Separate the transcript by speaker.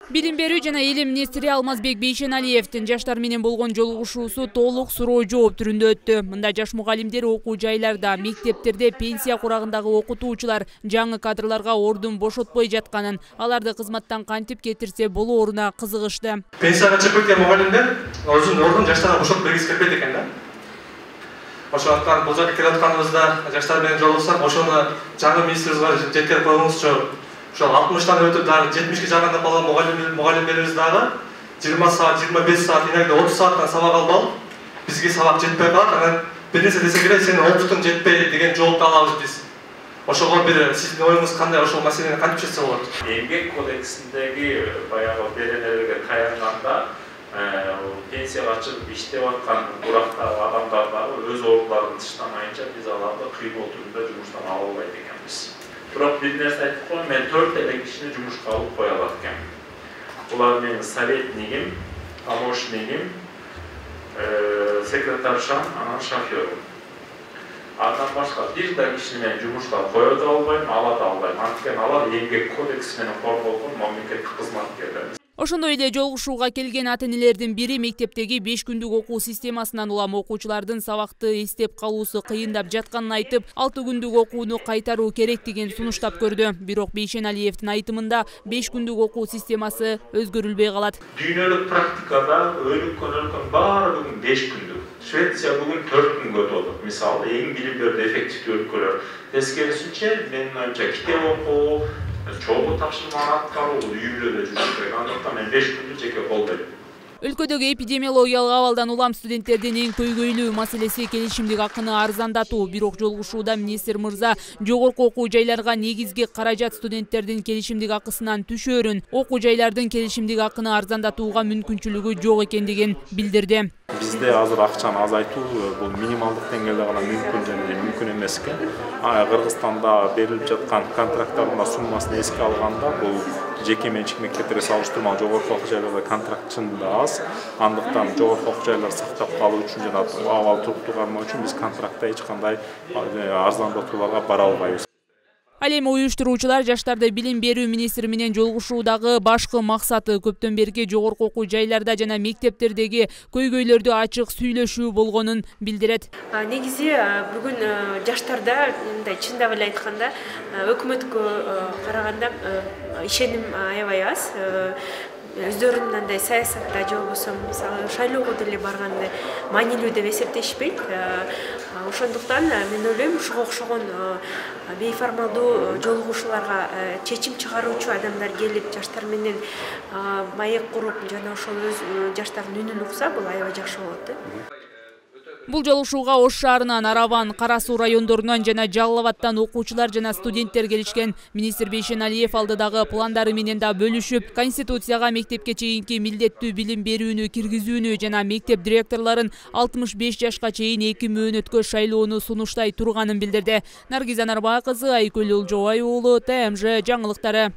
Speaker 1: Билим берүү жана элим министри Алмазбек Бейшеналиевдин жаштар менен болгон жолугушуусу толук суроо жооп түрүндө өттү. Мында жаш мугалимдер окуу жайларда, мектептерде пенсия курагындагы окутуучулар жаңы кадрларга ордун бошотпой жатканын, аларды кызматтан кантип кетирсе болооруна кызыгышты.
Speaker 2: Пенсияга чыгып кеткен мугалимдер өзүнүн ордун жаштарга бошотуп бергиси келбейт экен да. Ошондуктан бул жерге келип атканыбызда жаштар менен жолугушсак, ошону жаңы министрибизге жеткирип коюңузчу. Ошол 60-тан өтүп дагы 70-ке жагында калган мугалимдерибиз дагы 20 саат, 25 саат, иногда 30 сааттан сабак алып алып, бизге сабак жетпей калат. Анан бир нерсе десек эле сенин опытың жетпейт деген жоопду алабыз биз. Ошого бир сиздин оюңуз кандай, ошол маселени кантип чечсе болот?
Speaker 3: Эмгек кодексиндеги баягы беренелерге таянганда пенсияга чыгып иштеп аткан бурактагы адамдар дагы өз ордуларын тыштамайынча биз аларды кыймыл түрүндө жумуштан ала албайт экенбиз. Бирок бир нерсе айтып коеюн, мен 4 эле кишини жумушка алып кое алат экенмин. Булар менин советнигим, помощнигим, секретаршам, анан шофёрум. Андан башка бир да кишини мен жумушка кое да албайм, ала да албайм. Анткени алар эмгек кодекси менен корголгон мамлекеттик кызматкерлер.
Speaker 1: Ошондой эле жолугушууга келген ата-энелердин бири мектептеги 5 күндүк окуу системасынан улам окуучулардын сабакты эстеп калуусу кыйындап жатканын айтып, 6 күндүк окууну кайтаруу керектигин сунуштап көрдү. Бирок Бейшеналиевдин айтымында 5 күндүк окуу системасы өзгөрүлбөй калат.
Speaker 3: Дүйнөлүк практикада өлкөнүн баары бүгүн 5 күндүк. Швеция бүгүн 4 күнгө отурду. Мисалы, эң билим берүүдө эффективдүү өлкөлөр. Тескерисинче, менин оюмча китеп окуу, чогуу тапшырманы аткаруу үйүмдөрдө жүрүш керек. Андыктан мен 5 күндү жеке колдойм.
Speaker 1: Өлкөдөгү эпидемиологиялык абалдан улам студенттердин эң көйгөйлүү маселеси келишимдик акыны арзандатуу. Бирок жолугушууда министр мырза жогорку окуу жайларга негизги каражат студенттердин келишимдик акысынан түшөөрүн, окуу жайлардын келишимдик акыны арзандатууга мүмкүнчүлүгү жок экендигин билдирди.
Speaker 4: Бизде азыр акчаны азайтуу бул минималдык деңгээлде гана мүмкүн жана мүмкүн эмес экен. Кыргызстанда берилип жаткан контракттардын суммасын эске алганда бул жеке менчик мектептерге салыштырмалуу жогорку окуу жайларда контракт чынында аз. Андыктан жогорку окуу жайларды сактап калуу үчүн жана абал туруктуу кармоо үчүн биз контрактта эч кандай арзандатууларга бара албайбыз.
Speaker 1: Ал эми уюштуруучулар жаштарды билим берүү министри менен жолугушуудагы башкы максаты көптөн берки жогорку окуу жайларда жана мектептердеги көйгөйлөрдү ачык сүйлөшүү болгонун билдирет.
Speaker 5: Негизи бүгүн жаштарда мындай чындап эле айтканда өкмөткө караганда ишеним аябай аз. Өздөрүн мындай саясатта же болбосо мисалы шайлоого деле барганда маанилүү деп эсептешпейт. Ошондуктан мен ойлойм ушуга окшогон бейформалдуу жолугушууларга чечим чыгаруучу адамдар келип жаштар менен маек куруп жана ошол өз жаштардын үнүн укса бул аябай жакшы болот.
Speaker 1: Бул жолугушууга Ош шаарынан, Арабан, Кара Суу райондорунан жана Жалал Абадтан окуучулар жана студенттер келишкен. Министр Бейшеналиев алдыдагы пландары менен да бөлүшүп, Конституцияга мектепке чейинки милдеттүү билим берүүнү киргизүүнү жана мектеп директорлорун 65 жашка чейин 2 мөөнөткө шайлоону сунуштай турганын билдирди. Наргиза Нарбаа кызы, Айкөл Улжобай уулу, ТМЖ жаңылыктары.